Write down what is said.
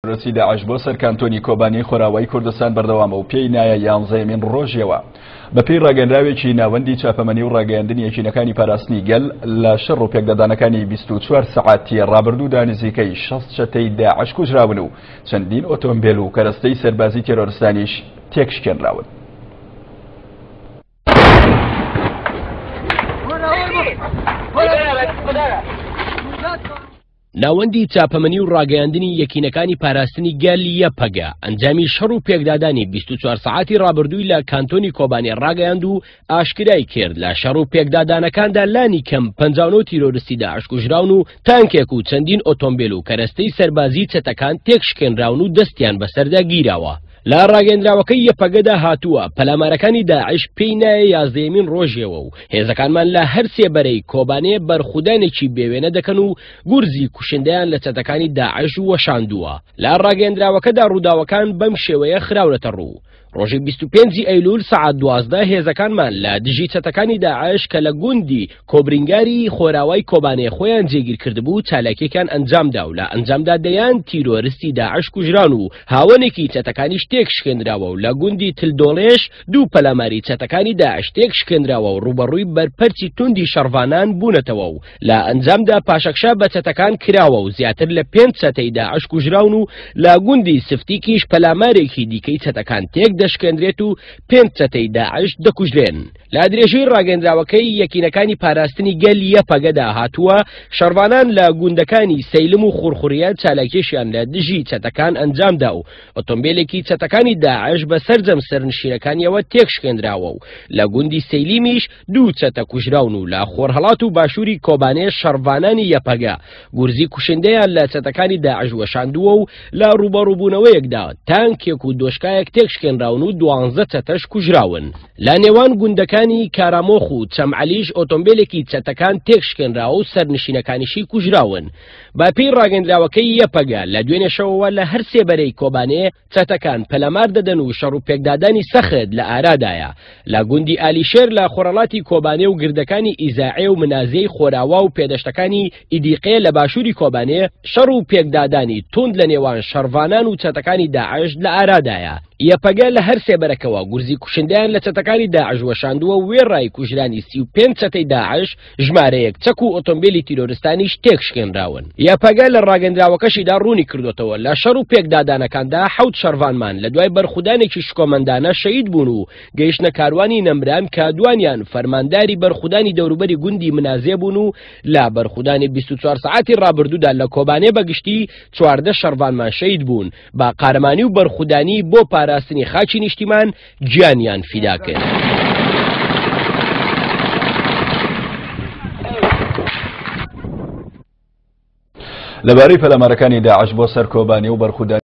تیرۆرستی داعش بۆ سەر کانتۆنی کۆبانی خۆراوای کوردستان بەردەوامە و پێی نایە یانزەیەمین ڕۆژیەوە. بەپێی ڕاگەنراوێکی ناوەندی چاپەمەنی و ڕاگەیاندنی یەکینەکانی پاراستنی گەل لە شەڕ و پێکدادانەکانی 24 سەعاتی ڕابردوودا نزیکەی 60 چەتەی داعش کوژراون و چەندین ئۆتۆمبێل و کەرەستەی سەربازی تێرۆرستانیش تێکشکێنراون. ناوەندی چاپەمەنی و ڕاگەیاندنی یەکینەکانی پاراستنی گەل یەپەگە ئەنجامی شەڕ و پێکدادانی 24 سەعاتی ڕابردووی لە کانتۆنی کۆبانێ ڕاگەیاند و ئاشکرای کرد لە شەڕ و پێکدادانەکاندا لانی کەم 59 تیرۆرستی داعش کوژراون و تانکێک و چەندین ئۆتۆمبێل و کەرەستەی سەربازی چەتەکان تێکشکێنراون و دەستیان بەسەردا گیراوە. لە ڕاگەندراوەکەی یەپەگەدا هاتووە پەلامارەکانی داعش پێی نایە یازدەیەمین ڕۆژیەوە و هێزەکانمان لە هەر سێ بەرەی کۆبانێ بەرخودانێکی بێوێنە دەکەن و گورزی کوشندەیان لە چەتەکانی داعش وەشاندووە. لە ڕاگەندراوەکەدا ڕووداوەکان بەم شێوەیە خراونەتە ڕوو. ڕۆژی 25 ئەیلول سەعات 12 هێزەکانمان لە دژی چەتەکانی داعش کە لە گوندی کۆبرینگاری خۆراوای کۆبانێ خۆیان جێگیر کردبوو چالاکیەکان ئەنجامدا و لە ئەنجامدا دەیان تیرۆرستی داعش کوژران و هاوەنێکی چەتەکانیش تێکشکێنراوە و لە گوندی تلدۆڵێش دوو پەلاماری چەتەکانی داعش تێکشکێنراوە و ڕووبەڕووی بەرپەرچی توندی شەڕڤانان بوونەتەوە و لە ئەنجامدا پاشەکشە بە چەتەکان کراوە و زیاتر لە پێنج چەتەی داعش کوژراون و لە گوندی سفتیکیش پەلامارێکی دیکەی چەتەکان تێک دەشکێنرێت و پێنج چەتەی داعش دەکوژرێن. لە درێژەی ڕاگەندراوەکەی یەکینەکانی پاراستنی گەل یەپەگەدا هاتووە، شەڕڤانان لە گوندەکانی سەیلم و خورخوریە چالاکیشیان لە دژی چەتەکان ئەنجامدا و ئۆتۆمبیلێکی چەتەکانی داعش بە سەرجەم سەرنشینەکانیەوە تێکشکێنراوە و لە گوندی سەیلیمیش دوو چەتە کوژراون و لە خۆرهەڵات و باشووری کۆبانێ شەڕڤانانی یەپەگە گورزی کوشندەیان لە چەتەکانی داعش وەشاندووە و لە ڕووبەڕووبوونەوەیەکدا تانکێک و دۆشکایەک تێکشکێنراون و دوانزە چەتەش کوژراون. لە نێوان گوندەکانی کارامۆخ و چەمعەلیش ئۆتۆمبیلێکی چەتەکان تێکشکێنراوە و سەرنشینەکانیشی کوژراون. بە پێی ڕاگەندراوەکەی یەپەگە لە دوێنێ شەوەوە لە هەر سێ بەرەی کۆبانێ چەتەکان پەلامار دەدەن و شەڕ و پێکدادانی سەخت لە ئارادایە لە گوندی ئالیشێر لە خۆرهەڵاتی کۆبانێ و گردەکانی ئیزاعێ و منازێی خۆراوا و پێدەشتەکانی ئیدیقێ لە باشووری کۆبانێ شەڕ و پێکدادانی توند لە نێوان شەڕڤانان و چەتەکانی داعش لە ئارادایە. یەپەگە لە هەر سێ بەرەکەوە گورزی کوشندەیان لە چەتەکانی داعش وەشاندووە وێڕای کوژرانی 35 چەتەی داعش ژمارەیەک چەک و ئۆتۆمبیلی تیرۆرستانیش تێکشکێنراون. یەپەگە لە ڕاگەندراوەکەشیدا ڕوونی کردوێتەوە لە شەڕ و پێکدادانەکاندا حەوت شەڕڤانمان لە دوای بەرخودانێکی شکۆمەندانە شەهید بوون و گەیشتنە کاروانی نەمران کە دوانیان فەرمانداری بەرخودانی دەوروبەری گوندی منازێ بوون و لە بەرخودانی 24 سەعاتی ڕابردوودا لە کۆبانێ بەگشتی 14 شەڕڤانمان شەهید بوون بە قارەمانی و بەرخودانی بۆ پاراستنی خاکی نیشتیمان گیانیان فیدا کرد. لەبارەی پەلامارەکانی داعش بۆ سەر کۆبانی و بەرخودانی.